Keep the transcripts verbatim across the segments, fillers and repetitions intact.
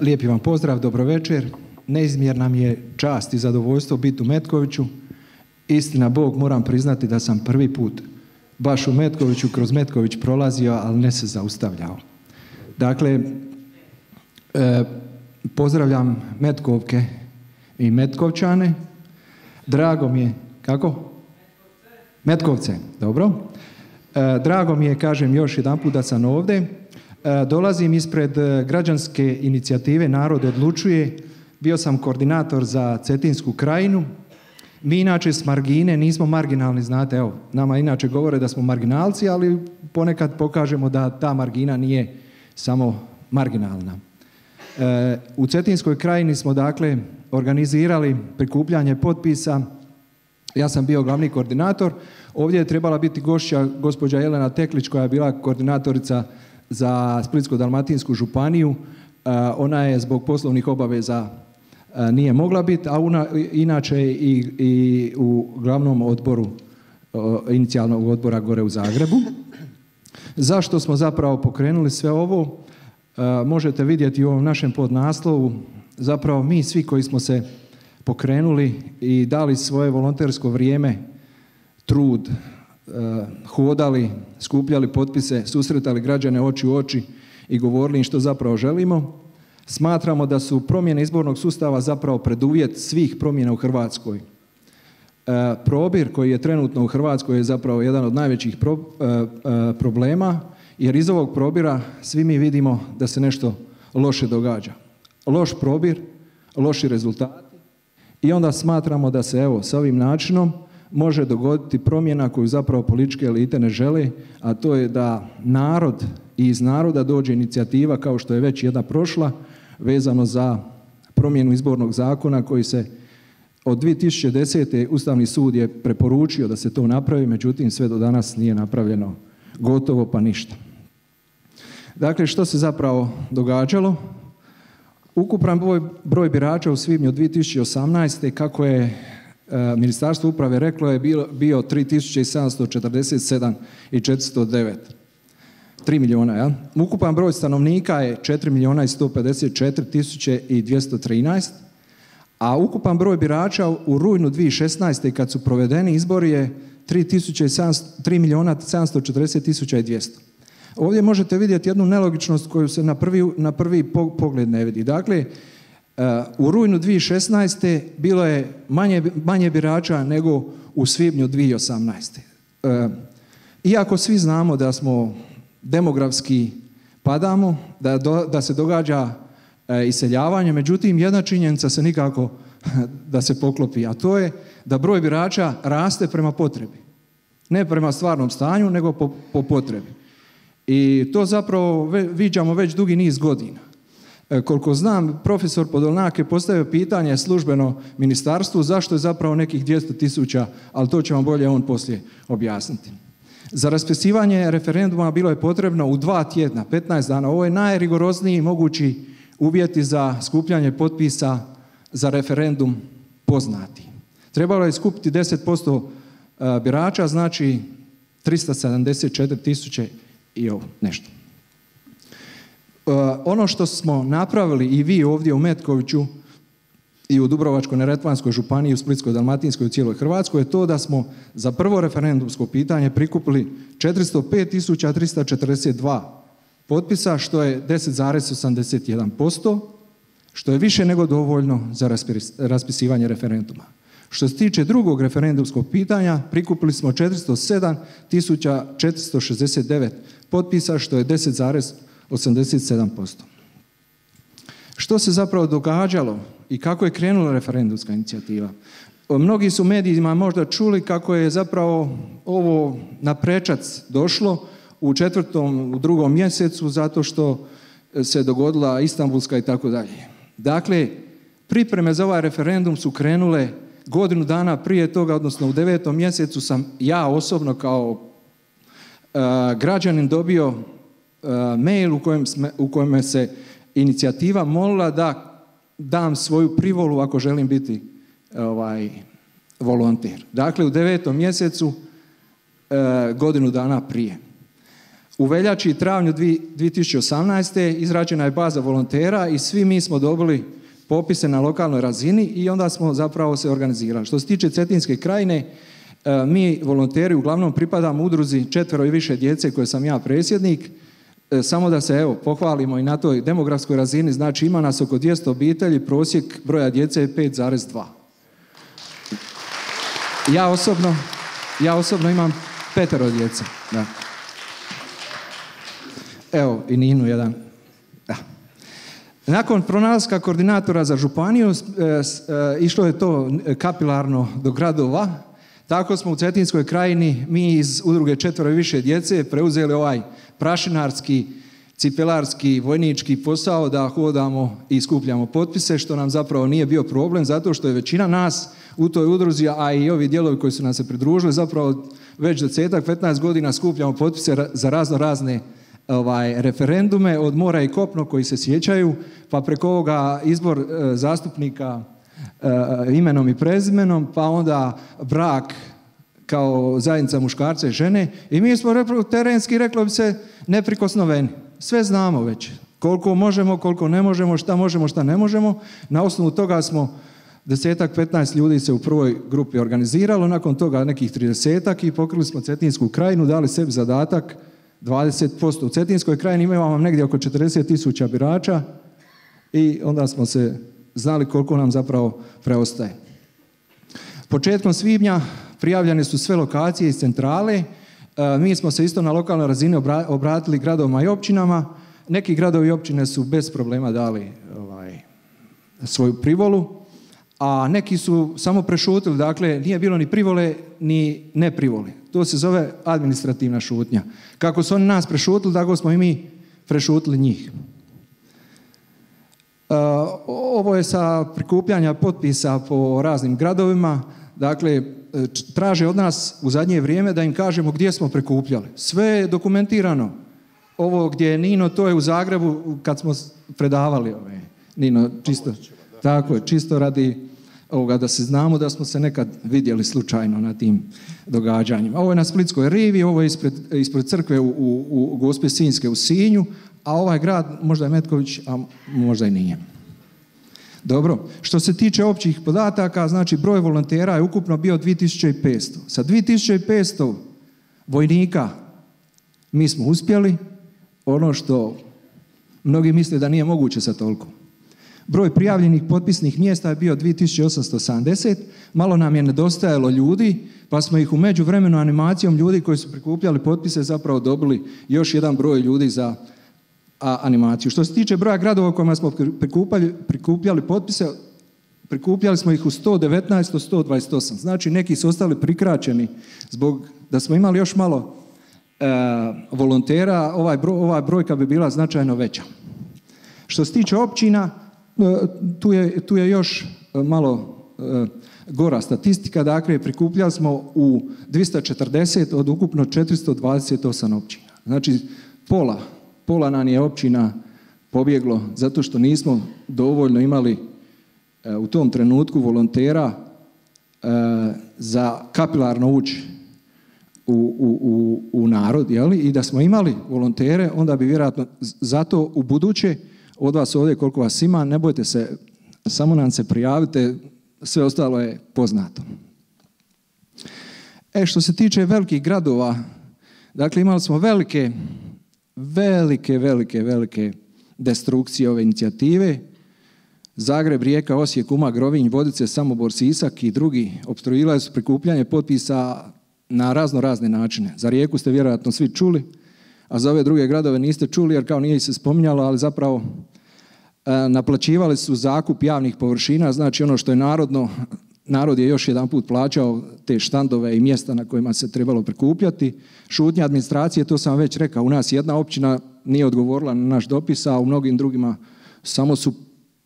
Lijepi vam pozdrav, dobro večer. Neizmjerna mi je čast i zadovoljstvo biti u Metkoviću. Istina Bog, moram priznati da sam prvi put baš u Metkoviću, kroz Metković prolazio, ali ne se zaustavljao. Dakle, e, pozdravljam Metkovke i Metkovčane. Drago mi je, kako? Metkovce, dobro. E, drago mi je, kažem još jedan put da sam ovdje. E, dolazim ispred građanske inicijative Narod odlučuje. Bio sam koordinator za Cetinsku krajinu. Mi inače s margine nismo marginalni, znate, evo, nama inače govore da smo marginalci, ali ponekad pokažemo da ta margina nije samo marginalna. E, u Cetinskoj krajini smo dakle organizirali prikupljanje potpisa. Ja sam bio glavni koordinator. Ovdje je trebala biti gošća gospođa Jelena Teklić koja je bila koordinatorica za Splitsko-dalmatinsku županiju. E, ona je zbog poslovnih obaveza e, nije mogla biti, a una, inače i, i u glavnom odboru e, inicijalnog odbora gore u Zagrebu. Zašto smo zapravo pokrenuli sve ovo? E, možete vidjeti u ovom našem podnaslovu. Zapravo mi svi koji smo se pokrenuli i dali svoje volontersko vrijeme, trud, e, hodali, skupljali potpise, susretali građane oči u oči i govorili im što zapravo želimo. Smatramo da su promjene izbornog sustava zapravo preduvjet svih promjena u Hrvatskoj. E, probir koji je trenutno u Hrvatskoj je zapravo jedan od najvećih pro, e, e, problema, jer iz ovog probira svi mi vidimo da se nešto loše događa. Loš probir, loši rezultati i onda smatramo da se evo s ovim načinom može dogoditi promjena koju zapravo političke elite ne žele, a to je da narod i iz naroda dođe inicijativa kao što je već jedna prošla vezano za promjenu izbornog zakona koji se od dvije tisuće desete. Ustavni sud je preporučio da se to napravi, međutim sve do danas nije napravljeno gotovo pa ništa. Dakle, što se zapravo događalo? Ukupan broj, broj birača u svibnju dvije tisuće osamnaeste. kako je e, Ministarstvo uprave reklo je bio, bio tri tisuće sedamsto četrdeset sedam i četiristo devet. tri milijuna, ja? Ukupan broj stanovnika je četiri milijuna sto pedeset četiri tisuće dvjesto trinaest, a ukupan broj birača u rujnu dvije tisuće šesnaeste. kad su provedeni izbori je tri milijuna sedamsto četrdeset tisuća dvjesto. Ovdje možete vidjeti jednu nelogičnost koju se na prvi, na prvi pogled ne vidi. Dakle, u rujnu dvije tisuće šesnaeste. bilo je manje, manje birača nego u svibnju dvije tisuće osamnaeste. Iako svi znamo da smo demografski padamo, da, do, da se događa iseljavanje, međutim jedna činjenica se nikako da se poklopi, a to je da broj birača raste prema potrebi. Ne prema stvarnom stanju, nego po, po potrebi. I to zapravo viđamo već dugi niz godina. E, koliko znam, profesor Podolnjak je postavio pitanje službeno ministarstvu zašto je zapravo nekih dvjesto tisuća, ali to će vam bolje on poslije objasniti. Za raspisivanje referenduma bilo je potrebno u dva tjedna, petnaest dana. Ovo je najrigorozniji mogući uvjeti za skupljanje potpisa za referendum poznati. Trebalo je skupiti deset posto birača, znači tristo sedamdeset četiri tisuće i ovo nešto. Uh, ono što smo napravili i vi ovdje u Metkoviću i u Dubrovačko-neretvanskoj županiji, u Splitsko-dalmatinskoj i u cijeloj Hrvatskoj je to da smo za prvo referendumsko pitanje prikupili četiristo pet tisuća tristo četrdeset dva potpisa, što je deset zarez osamdeset jedan posto, što je više nego dovoljno za raspis, raspisivanje referenduma. Što se tiče drugog referendumskog pitanja, prikupili smo četiristo sedam tisuća četiristo šezdeset devet potpisa, što je deset zarez osamdeset sedam posto. Što se zapravo događalo i kako je krenula referendumska inicijativa? Mnogi su medijima možda čuli kako je zapravo ovo na prečac došlo u četvrtom, u drugom mjesecu, zato što se dogodila Istanbulska i tako dalje. Dakle, pripreme za ovaj referendum su krenule godinu dana prije toga, odnosno u devetom mjesecu sam ja osobno kao uh, građanin dobio uh, mail u kojem, sme, u kojem se inicijativa molila da dam svoju privolu ako želim biti ovaj, volonter. Dakle, u devetom mjesecu uh, godinu dana prije. U veljači i travnju dvije tisuće osamnaeste. izrađena je baza volontera i svi mi smo dobili popise na lokalnoj razini i onda smo zapravo se organizirali. Što se tiče Cetinske krajine, mi volonteri uglavnom pripadamo udruzi četvero i više djece koje sam ja predsjednik. Samo da se evo pohvalimo i na toj demografskoj razini, znači ima nas oko dvjesto obitelji, prosjek broja djece je pet zarez dva. Ja osobno, ja osobno imam petero djece. Da. Evo i Ninu jedan. Da. Nakon pronalaska koordinatora za županiju, išlo je to kapilarno do gradova. Tako smo u Cetinskoj krajini, mi iz udruge četvero i više djece, preuzeli ovaj prašinarski, cipelarski, vojnički posao da hodamo i skupljamo potpise, što nam zapravo nije bio problem, zato što je većina nas u toj udruzi, a i ovi dijelovi koji su nam se pridružili, zapravo već desetak, petnaest godina skupljamo potpise za razno razne ovaj, referendume od mora i kopno koji se sjećaju, pa preko ovoga izbor e, zastupnika e, imenom i prezimenom, pa onda brak kao zajednica muškarca i žene. I mi smo terenski, reklo bi se, neprikosnoveni. Sve znamo već. Koliko možemo, koliko ne možemo, šta možemo, šta ne možemo. Na osnovu toga smo desetak, petnaest ljudi se u prvoj grupi organiziralo, nakon toga nekih tridesetak i pokrili smo Cetinsku krajinu, dali sebi zadatak dvadeset posto. U Cetinskoj krajini imamo negdje oko četrdeset tisuća birača i onda smo se znali koliko nam zapravo preostaje. Početkom svibnja prijavljene su sve lokacije iz centrale. E, mi smo se isto na lokalnoj razini obratili gradovima i općinama. Neki gradovi i općine su bez problema dali ovaj, svoju privolu, a neki su samo prešutili, dakle nije bilo ni privole ni ne privole. To se zove administrativna šutnja. Kako su oni nas prešutili, tako smo i mi prešutili njih. E, ovo je sa prikupljanja potpisa po raznim gradovima. Dakle, traže od nas u zadnje vrijeme da im kažemo gdje smo prikupljali. Sve je dokumentirano. Ovo gdje je Nino, to je u Zagrebu kad smo predavali ove. Nino, čisto, tako je, čisto radi ovoga da se znamo da smo se nekad vidjeli slučajno na tim događanjima. Ovo je na Splitskoj rivi, ovo je ispred, ispred crkve u, u, u Gospe Sinjske u Sinju, a ovaj grad možda je Metković, a možda i nije. Dobro, što se tiče općih podataka, znači broj volontera je ukupno bio dvije tisuće petsto. Sa dvije tisuće petsto vojnika mi smo uspjeli ono što mnogi misle da nije moguće sa toliko. Broj prijavljenih potpisnih mjesta je bio dvije tisuće osamsto sedamdeset, malo nam je nedostajalo ljudi, pa smo ih u međuvremenu animacijom ljudi koji su prikupljali potpise zapravo dobili još jedan broj ljudi za a, animaciju. Što se tiče broja gradova u kojima smo prikupljali, prikupljali potpise, prikupljali smo ih u sto devetnaest od sto dvadeset osam. Znači neki su ostali prikraćeni zbog da smo imali još malo e, volontera, ovaj broj, ova brojka bi bila značajno veća. Što se tiče općina, tu je, tu je još malo e, gora statistika, dakle prikupljali smo u dvjesto četrdeset od ukupno četiristo dvadeset osam općina. Znači pola, pola nam je općina pobjeglo zato što nismo dovoljno imali e, u tom trenutku volontera e, za kapilarno ući u, u, u, u narod, jeli? I da smo imali volontere, onda bi vjerojatno zato u buduće od vas ovdje koliko vas ima, ne bojte se, samo nam se prijavite, sve ostalo je poznato. E, što se tiče velikih gradova, dakle imali smo velike, velike, velike, velike destrukcije ove inicijative. Zagreb, Rijeka, Osijek, Umag, Rovinj, Vodice, Samobor, Sisak i drugi opstruirali su prikupljanje potpisa na razno razne načine. Za Rijeku ste vjerojatno svi čuli, a za ove druge gradove niste čuli jer kao nije se spominjalo, ali zapravo e, naplaćivali su zakup javnih površina, znači ono što je narodno, narod je još jedan put plaćao te štandove i mjesta na kojima se trebalo prikupljati. Šutnja administracije, to sam već rekao, u nas jedna općina nije odgovorila na naš dopis, a u mnogim drugima samo su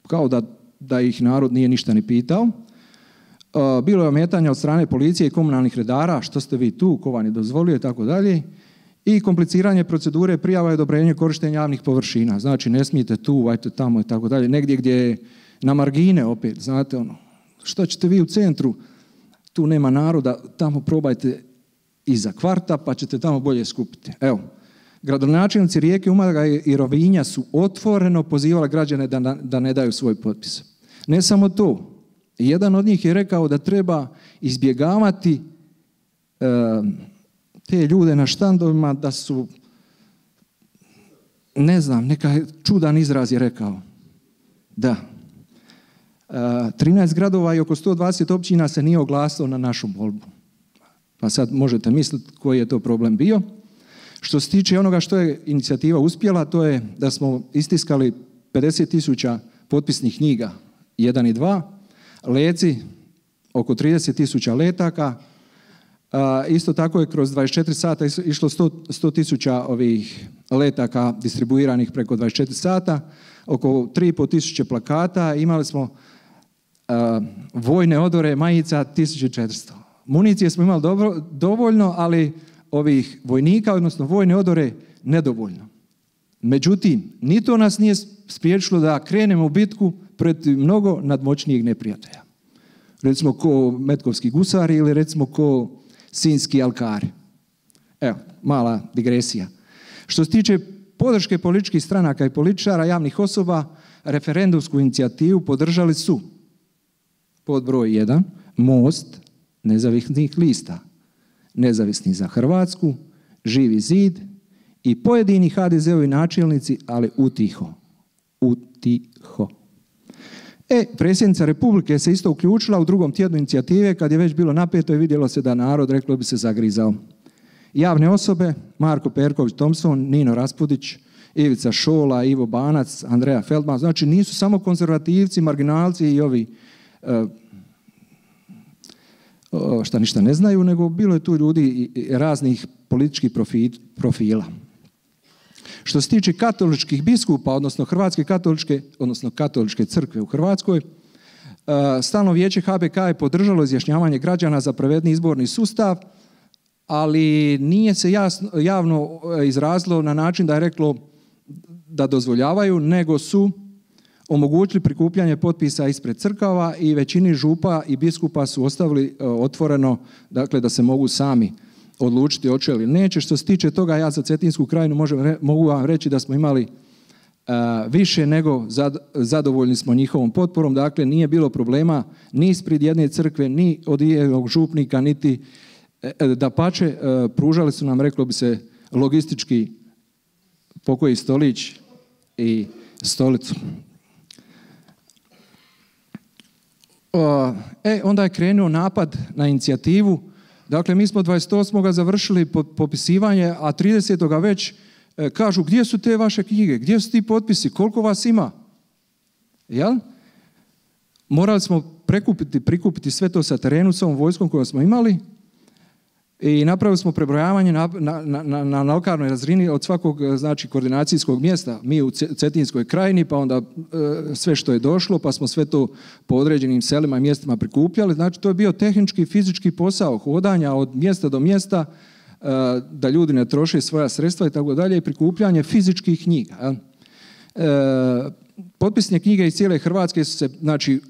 kao da, da ih narod nije ništa ni pitao. E, bilo je ometanja od strane policije i komunalnih redara, što ste vi tu, ko vam je dozvolio i tako dalje. I kompliciranje procedure prijava i odobrenje korištenja javnih površina. Znači, ne smijete tu, ajte tamo i tako dalje. Negdje gdje je na margine opet, znate ono, što ćete vi u centru, tu nema naroda, tamo probajte iza kvarta pa ćete tamo bolje skupiti. Evo, Gradonačelnici Rijeke, Umaga i Rovinja su otvoreno pozivali građane da, da ne daju svoj potpis. Ne samo to, jedan od njih je rekao da treba izbjegavati e, te ljude na štandovima, da su, ne znam, neka čudan izraz je rekao. Da. E, trinaest gradova i oko sto dvadeset općina se nije oglasilo na našu molbu. Pa sad možete misliti koji je to problem bio. Što se tiče onoga što je inicijativa uspjela, to je da smo istiskali pedeset tisuća potpisnih knjiga jedan i dva, leci oko trideset tisuća letaka, a, isto tako je kroz dvadeset četiri sata išlo sto tisuća ovih letaka distribuiranih preko dvadeset četiri sata, oko tri i pol tisuće plakata, imali smo a, vojne odore majica tisuću četiristo. Municije smo imali dobro, dovoljno, ali ovih vojnika, odnosno vojne odore, nedovoljno. Međutim, ni to nas nije spriječilo da krenemo u bitku protiv mnogo nadmoćnijeg neprijatelja. Recimo ko metkovski gusari ili recimo ko sinjski alkari. Evo, mala digresija. Što se tiče podrške političkih stranaka i političara, javnih osoba, referendumsku inicijativu podržali su pod broj jedan Most nezavisnih lista, Nezavisni za Hrvatsku, Živi zid i pojedini ha de ze ovi načelnici, ali utiho. Utiho. E, predsjednica Republike se isto uključila u drugom tjednu inicijative, kad je već bilo napeto i vidjelo se da narod, reklo bi se, zagrizao. Javne osobe, Marko Perković-Thompson, Nino Raspudić, Ivica Šola, Ivo Banac, Andreja Feldman, znači nisu samo konzervativci, marginalci i ovi uh, šta ništa ne znaju, nego bilo je tu ljudi raznih političkih profila. Što se tiče katoličkih biskupa, odnosno Hrvatske katoličke, odnosno Katoličke crkve u Hrvatskoj, Stalno vijeće ha be ka je podržalo izjašnjavanje građana za pravedni izborni sustav, ali nije se jasno, javno izrazilo na način da je reklo da dozvoljavaju, nego su omogućili prikupljanje potpisa ispred crkava i većini župa i biskupa su ostavili otvoreno, dakle da se mogu sami odlučiti hoće ili neće. Što se tiče toga, ja za Cetinsku krajinu možem, mogu vam reći da smo imali uh, više nego zad, zadovoljni smo njihovom potporom, dakle nije bilo problema ni ispred jedne crkve, ni od jednog župnika, niti dapače, uh, pružali su nam, reklo bi se, logistički pokoji stolić i stolicu. E, onda je krenuo napad na inicijativu. Dakle, mi smo dvadeset osmog završili popisivanje, a tridesetog već e, kažu gdje su te vaše knjige, gdje su ti potpisi, koliko vas ima? Jel? Morali smo prekupiti, prikupiti sve to sa terenu, s ovom vojskom koju smo imali i napravili smo prebrojavanje na, na, na, na lokalnoj razini od svakog, znači, koordinacijskog mjesta. Mi u Cetinskoj krajini, pa onda e, sve što je došlo, pa smo sve to po određenim selima i mjestima prikupljali. Znači, to je bio tehnički i fizički posao hodanja od mjesta do mjesta, e, da ljudi ne troše svoja sredstva i tako dalje, i prikupljanje fizičkih knjiga. E, Potpisne knjige iz cijele Hrvatske su se, znači,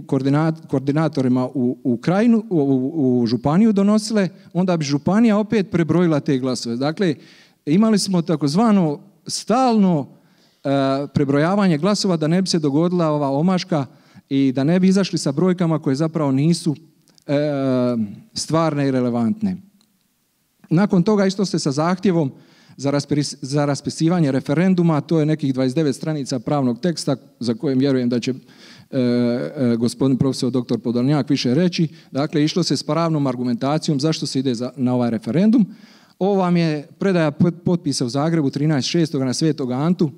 koordinat, koordinatorima u, u krajinu, u, u županiju donosile, onda bi županija opet prebrojila te glasove. Dakle, imali smo takozvano stalno uh, prebrojavanje glasova da ne bi se dogodila ova omaška i da ne bi izašli sa brojkama koje zapravo nisu uh, stvarne i relevantne. Nakon toga isto se sa zahtjevom za raspisivanje referenduma, to je nekih dvadeset devet stranica pravnog teksta za kojem vjerujem da će e, e, gospodin profesor doktor Podolnjak više reći. Dakle, išlo se s pravnom argumentacijom zašto se ide za, na ovaj referendum. Ovo vam je predaja potpisa u Zagrebu trinaest šestog na Svetog Antu.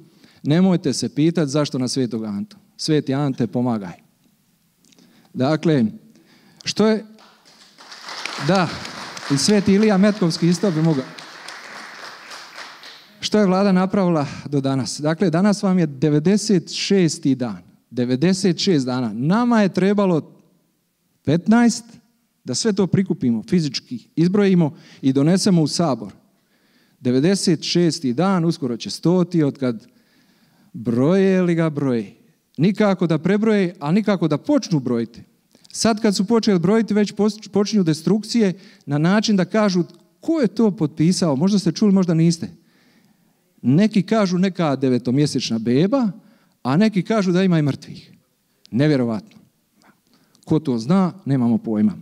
Nemojte se pitati zašto na Svetog Antu. Sveti Ante, pomagaj. Dakle, što je... Da, i Sveti Ilija Metkovski isto bi mogao... Što je vlada napravila do danas? Dakle, danas vam je devedeset šesti dan. devedeset šest dana. Nama je trebalo petnaest da sve to prikupimo fizički, izbrojimo i donesemo u Sabor. devedeset šesti dan, uskoro će stoti, od kad broje li ga broje. Nikako da prebroje, a nikako da počnu brojiti. Sad kad su počeli brojiti, već počinju destrukcije na način da kažu ko je to potpisao. Možda ste čuli, možda niste. Neki kažu neka devetomjesečna beba, a neki kažu da ima i mrtvih. Nevjerovatno. Ko to zna, nemamo pojma.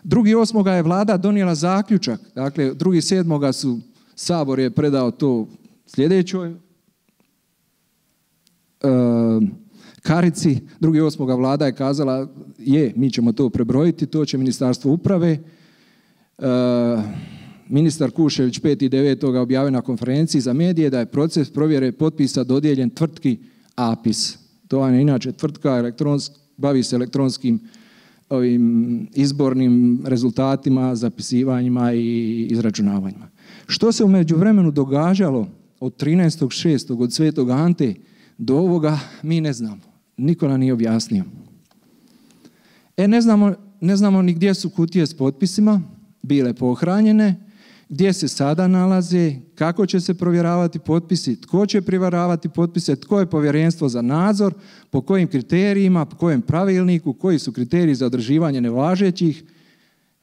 drugi osmoga je vlada donijela zaključak, dakle drugi sedmoga su Sabor je predao to sljedećoj e, karici, drugi osmoga vlada je kazala je, mi ćemo to prebrojiti, to će Ministarstvo uprave. E, ministar Kuščević peti devetog objavio na konferenciji za medije da je proces provjere potpisa dodijeljen tvrtki APIS. To je inače tvrtka elektronsk, bavi se elektronskim ovim izbornim rezultatima, zapisivanjima i izračunavanjima. Što se u međuvremenu događalo od trinaestog šestog od Svetog Ante do ovoga, mi ne znamo. Niko nam nije objasnio. E, ne znamo, ne znamo ni gdje su kutije s potpisima bile pohranjene, gdje se sada nalaze, kako će se provjeravati potpisi, tko će provjeravati potpise, tko je povjerenstvo za nadzor, po kojim kriterijima, po kojem pravilniku, koji su kriteriji za održivanje nevažećih.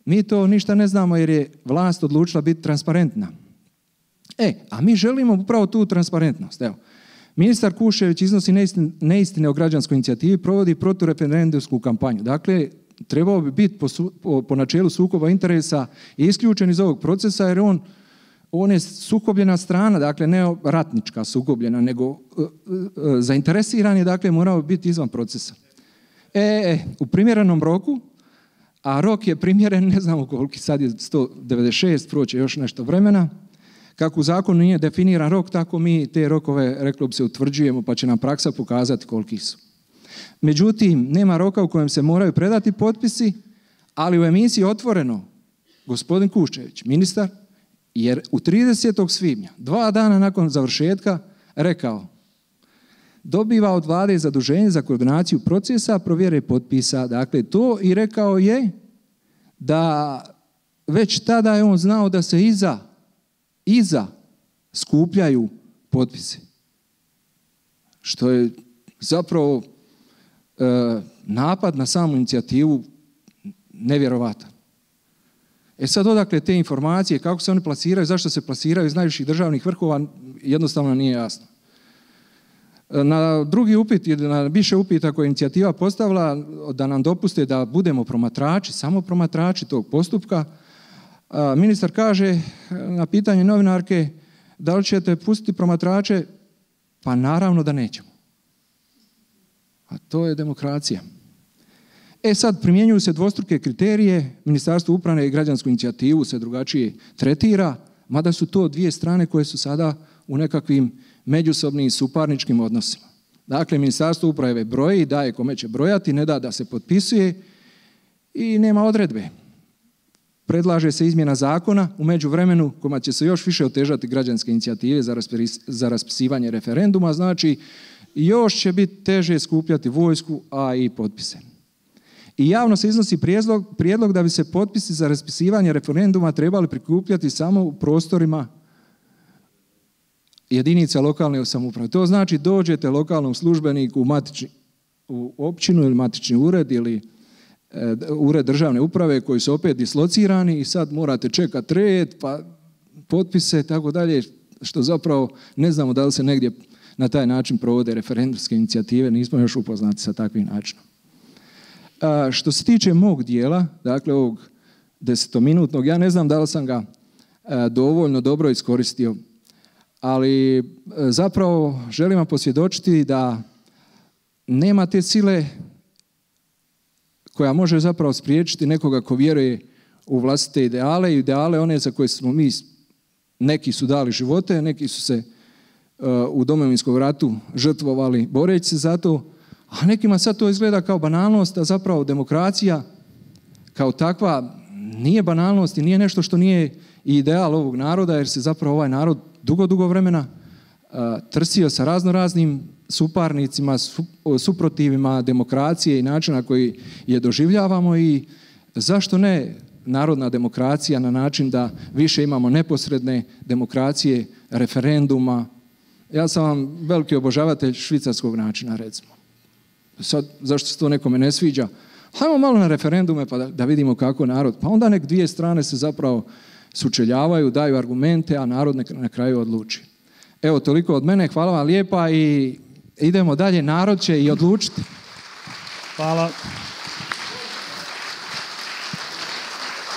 Mi to ništa ne znamo jer je vlast odlučila biti transparentna. E, a mi želimo upravo tu transparentnost. Evo, ministar Kuščević iznosi neistine, neistine o građanskoj inicijativi, provodi protureferendumsku kampanju. Dakle, trebao bi biti po, po, po načelu sukoba interesa isključen iz ovog procesa jer on, on je sukobljena strana, dakle ne ratnička sukobljena, nego uh, uh, zainteresiran je, dakle morao biti izvan procesa. E, e, u primjerenom roku, a rok je primjeren, ne znamo koliki, sad je sto devedeset šest, proće još nešto vremena. Kako u zakonu nije definiran rok, tako mi te rokove, reklo bi se, utvrđujemo, pa će nam praksa pokazati koliki su. Međutim, nema roka u kojem se moraju predati potpisi, ali u emisiji Otvoreno, gospodin Kuščević, ministar, jer u tridesetog svibnja, dva dana nakon završetka, rekao dobiva od vlade zaduženje za koordinaciju procesa, provjere potpisa. Dakle, to i rekao je da već tada je on znao da se iza, iza skupljaju potpisi. Što je zapravo e, napad na samu inicijativu nevjerovatan. E sad odakle te informacije, kako se oni plasiraju, zašto se plasiraju iz najviših državnih vrhova, jednostavno nije jasno. Na drugi upit, na više upita koje je inicijativa postavila da nam dopuste da budemo promatrači, samo promatrači tog postupka, ministar kaže na pitanje novinarke da li ćete pustiti promatrače, pa naravno da nećemo. A to je demokracija. E sad, primjenjuju se dvostruke kriterije, Ministarstvo uprave i građansku inicijativu se drugačije tretira, mada su to dvije strane koje su sada u nekakvim međusobnim suparničkim odnosima. Dakle, Ministarstvo uprave broji, daje kome će brojati, ne da da se potpisuje i nema odredbe. Predlaže se izmjena zakona u međuvremenu kojima će se još više otežati građanske inicijative za, raspis, za raspisivanje referenduma, znači još će biti teže skupljati vojsku, a i potpise. I javno se iznosi prijedlog, prijedlog da bi se potpisi za raspisivanje referenduma trebali prikupljati samo u prostorima jedinica lokalne samouprave. To znači dođete lokalnom službeniku u, matični, u općinu ili matični ured ili e, ured državne uprave koji su opet dislocirani i sad morate čekati red, pa potpise i tako dalje, što zapravo ne znamo da li se negdje na taj način provode referendumske inicijative, nismo još upoznati sa takvim načinom. A, što se tiče mog dijela, dakle ovog desetominutnog, ja ne znam da li sam ga a, dovoljno dobro iskoristio, ali zapravo želim vam posvjedočiti da nema te sile koja može zapravo spriječiti nekoga ko vjeruje u vlastite ideale i ideale one za koje smo mi, neki su dali živote, neki su se uh, u Domovinskom ratu žrtvovali boreći se za to, a nekima sad to izgleda kao banalnost, a zapravo demokracija kao takva nije banalnost i nije nešto što nije ideal ovog naroda, jer se zapravo ovaj narod dugo, dugo vremena uh, trsio sa razno raznim suparnicima, su, suprotivima demokracije i načina koji je doživljavamo i zašto ne narodna demokracija na način da više imamo neposredne demokracije, referenduma. Ja sam vam veliki obožavatelj švicarskog načina, recimo. Sad, zašto se to nekome ne sviđa? Hajmo malo na referendume pa da, da vidimo kako narod. Pa onda nek dvije strane se zapravo sučeljavaju, daju argumente, a narod na kraju odluči. Evo, toliko od mene. Hvala vam lijepa i idemo dalje. Narod će i odlučiti. Hvala.